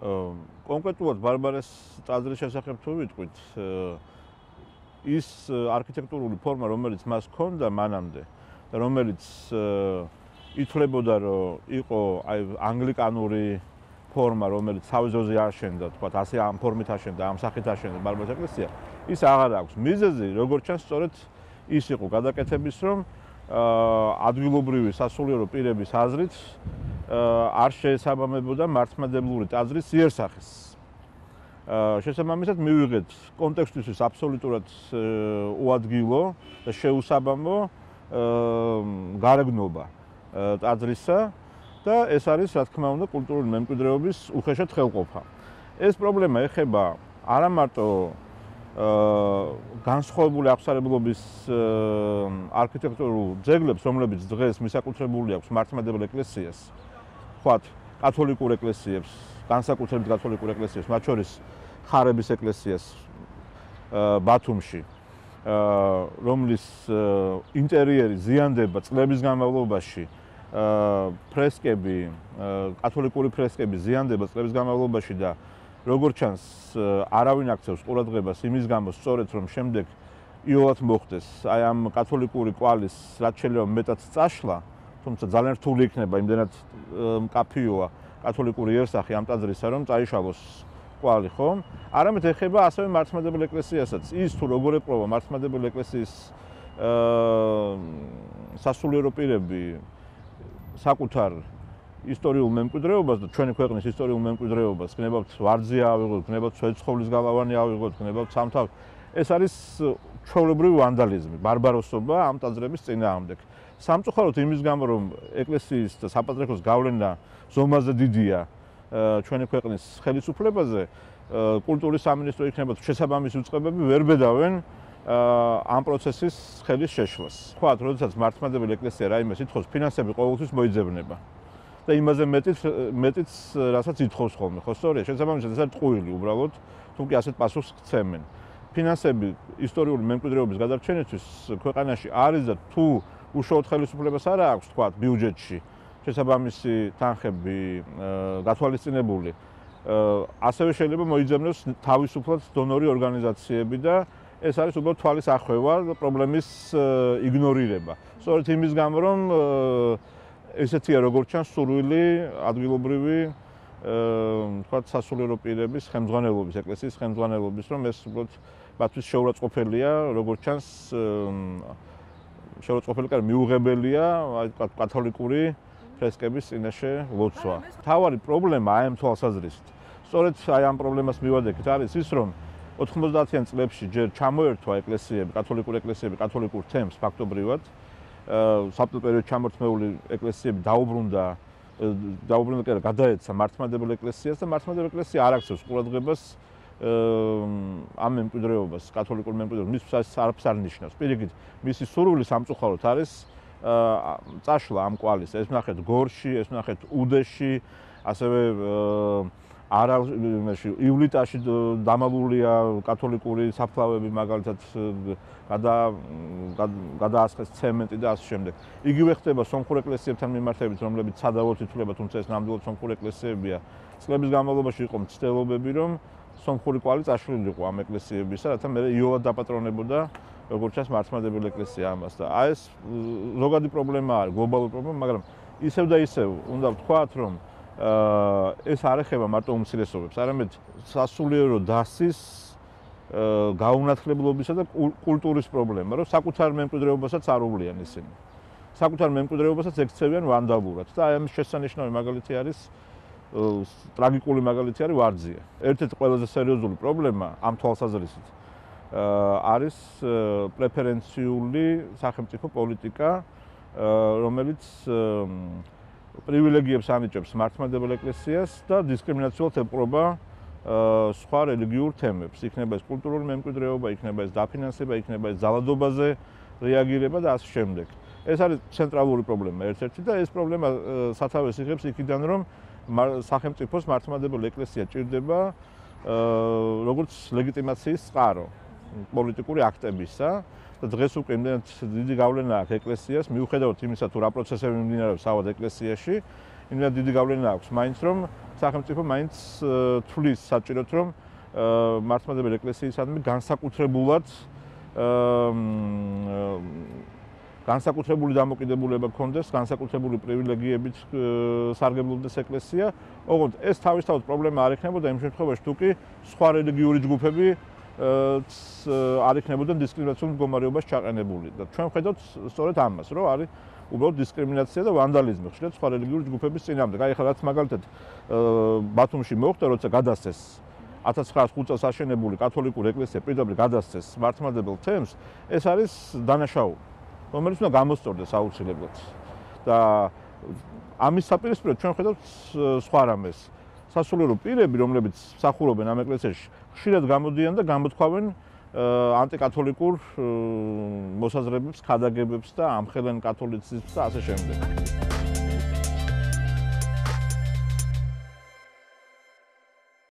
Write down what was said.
კონკრეტულად ბარბარეს ტაძრის შესახებ თუ ვიტყვით, ის არქიტექტურული ფორმა, რომელიც მას ჰქონდა მანამდე და რომელიც ითვლებოდა, რომ იყო ანგლიკანური ფორმა, რომელიც თავიზოზე აშენდა, თქვათ, ასე ამ ფორმით აშენდა, ამ სახით აშენდა ბარბარეს ეკლესია, ის აღარ აქვს. მიზეზი, როგორც ჩანს, სწორედ ის იყო გადაკეთების, რომ ადგილობრივი სასულიერო პირების აზრით არ შეესაბამებოდა მართლმადიდებლური ტაძრის იერსახეს. შესაბამისად მივიღეთ კონტექსტისთვის აბსოლუტურად უადგილო და შეუსაბამო გარეგნობა ტაძრისა და ეს არის, რა თქმა უნდა, კულტურული მემკვიდრეობის უხეშად ხელყოფა. ეს პრობლემა ეხება არა მარტო განსხვავებული აღსარებლობის არქიტექტურულ ძეგლებს, რომლებიც დღეს მისაკუთრებული აქვს მართლმადიდებელ ეკლესიას, ვთქვათ, კათოლიკურ ეკლესიებს, განსაკუთრებით კათოლიკურ ეკლესიებს, მათ შორის ხარების ეკლესიას ბათუმში, რომლის ინტერიერი ზიანდება წლების განმავლობაში, ფრესკები, კათოლიკური ფრესკები ზიანდება წლების განმავლობაში და როგორც ჩანს, არავინ აქცევს ყურადღებას იმის გამო, სწორედ რომ შემდეგ იოლად მოხდეს აი ამ კათოლიკური კვალის რაც შეიძლება მეტად წაშლა, თუმცა ძალიან რთული იქნება, იმდენად მკაფიოა კათოლიკური იერსახე ამ ტაძრისა, რომ წაიშალოს კვალი, ხო? არამედ ეხება ასევე მართლმადიდებელ ეკლესიასაც. ის თუ როგორ ეპყრობა მართლმადიდებელ ეკლესიის სასულიერო პირები საკუთარ ისტორიულ მემკვიდრეობას და ჩვენი ქვეყნის ისტორიულ მემკვიდრეობას, გნებავთ ვარძი ავიღოთ, გნებავთ სვეტიცხოვლის გალავანი ავიღოთ, გნებავთ სამთავ. ეს არის ჩვეულებრივი ვანდალიზმი, ბარბაროსობა ამ ტაძრების წინააღმდეგ. სამწუხაროდ იმის გამო, რომ ეკლესიის და საპატრიარქოს გავლენა ზომაზე დიდია ჩვენი ქვეყნის ხელისუფლებაზე, კულტურის სამინისტრო იქნება შესაბამისი უწყებები ვერ ბედავენ ამ პროცესის ხელის შეშლას. ვთქვათ, როდესაც მართლმადიდებელი ეკლესია რაიმე ითხოვს, ფინანსები ყოველთვის მოიძებნება. და იმაზე მეტიც რასაც ითხოვს ხოლმე, ხო სწორია? შესაბამისად ეს არის ტყუილი უბრალოდ, თუმცა ასეთ პასუხს გცემენ. ფინანსები ისტორიული მემკვიდრეობის გადარჩენისთვის ქვეყანაში არის და თუ უშუალოდ ხელისუფლებას არ აქვს, თქვათ, ბიუჯეტში შესაბამისი თანხები გათვალისწინებული, ასევე შეიძლება მოიძებნოს თავისუფლად დონორი ორგანიზაციები და ეს არის უბრალოდ თვალის ახვევა და პრობლემის იგნორირება. სწორედ იმის გამო, რომ ესეთია როგორც ჩანს სურვილი ადგილობრივი თქვათ სასულიერო პირების ხელმძღვანელობის, ეკლესიის ხელმძღვანელობის, რომ ეს უბრალოდ მათთვის შეურაცხყოფელია, როგორც ჩანს შეურაცხყოფელი კი მიუღებელია, აი თქვათ კათოლიკური ფრესკების წინაშე ლოცვა. თავარი პრობლემა აი ამ თვალსაზრისით. სწორედ აი ამ პრობლემას მივადექით არის ის, რომ 90-იან წლებში ჯერ ჩამოერთვა ეკლესიები, კათოლიკური ეკლესიები, კათოლიკურ თემს ფაქტობრივად. საბჭოთა პერიოდში ჩამორთმეული ეკლესიები დაუბრუნდა კი არა, გადაეცა მართლმადიდებელ ეკლესიას და მართლმადიდებელ ეკლესია არ აქცევს ყურადღებას ამ მემკვიდრეობას, კათოლიკურ მემკვიდრეობას, მისთვის არაფერს არ ნიშნავს. პირიქით, მისი სურვილი სამწუხაროდ არის წაშლა ამ კვალის. ეს ვნახეთ გორში, ეს ვნახეთ უდეში, ასევე ივლიტაში დამალულია კათოლიკური საფლავები, მაგალითად გადაასხეს ცემენტი და ასე შემდეგ. იგივე ხდება სომხურ ეკლესიებთან მიმართებით, რომლებიც სადავოდ ითვლება, თუმცა ეს ნამდვილად სომხური ეკლესიებია. წლების განმავლობაში იყო მცდელობები, რომ სომხური კვალი წაშლილიყო ამ ეკლესიებისა, რათა მე იოლად დაპატრონებოდა, როგორც ჩანს, მართლმადიდებელი ეკლესია ამას და აი ეს ზოგადი პრობლემა არის, გლობალური პრობლემა, მაგრამ ისევ და ისევ უნდა ვთქვათ, რომ ეს არ ეხება მარტო უმცირესობებს, არამედ სასულიერო დასის გაუნათლებლობისა და კულტურის პრობლემა, რომ საკუთარ მემკვიდრეობასაც არ უვლიან ისინი. საკუთარ მემკვიდრეობასაც ექცევიან ვანდალურად და აი ამის შესანიშნავი მაგალითი არის ტრაგიკული მაგალითი არის ვარძია. ერთ-ერთი ყველაზე სერიოზული პრობლემა ამ თვალსაზრისით არის პრეფერენციული სახელმწიფო პოლიტიკა, რომელიც პრივილეგიებს ანიჭებს მართლმადიდებელ ეკლესიას და დისკრიმინაციულად ეპყრობა სხვა რელიგიურ თემებს. იქნება ეს კულტურული მემკვიდრეობა, იქნება ეს დაფინანსება, იქნება ეს ძალადობაზე რეაგირება და ასე შემდეგ. ეს არის ცენტრალური პრობლემა ერთ-ერთი და ეს პრობლემა სათავეს იღებს იქიდან, რომ სახელმწიფოს მართლმადიდებელი ეკლესია ჭირდება როგორც ლეგიტიმაციის წყარო პოლიტიკური აქტებისა და დღეს უკვე იმდენად დიდი გავლენა აქვს ეკლესიას, მიუხედავად იმისა, თუ რა პროცესები მიმდინარეობს თავად ეკლესიაში, იმდენად დიდი გავლენა აქვს მაინც რომ სახელმწიფო მაინც თვლის საჭიროდ რომ მართლმადიდებელი ეკლესიისადმი განსაკუთრებულად განსაკუთრებული დამოკიდებულება გქონდეს, განსაკუთრებული პრივილეგიებით სარგებლობდეს ეკლესია, ოღონდ ეს თავისთავად პრობლემა არ იქნებოდა იმ შემთხვევაში, თუ კი სხვა რელიგიური ჯგუფები არ იქნებოდნენ დისკრიმინაციულ მდგომარეობას ჩაყენებული. და ჩვენ ვხედავთ სწორედ ამას, რომ არის უბრალოდ დისკრიმინაცია და ვანდალიზმი ხშირად სხვა რელიგიური ჯგუფების წინააღმდეგ. აი ახლა რაც მაგალითად ბათუმში მოხდა, როცა გადასცეს 1905 წელს აშენებული კათოლიკური ეკლესია პირდაპირ გადასცეს მართლმადიდებელ თემს, ეს არის დანაშაული, რომელიც უნდა გამოსწორდეს აუცილებლად. და ამის საპირისპიროდ ჩვენ ვხედავთ სხვა რამეს. სასულიერო პირები, რომლებიც მსახურობენ ამ ეკლესიაში, ხშირად გამოდიან და გამოთქვამენ ანტიკათოლიკურ მოსაზრებებს, ქადაგებებს და ამხელენ კათოლიციზმს და ასე შემდეგ.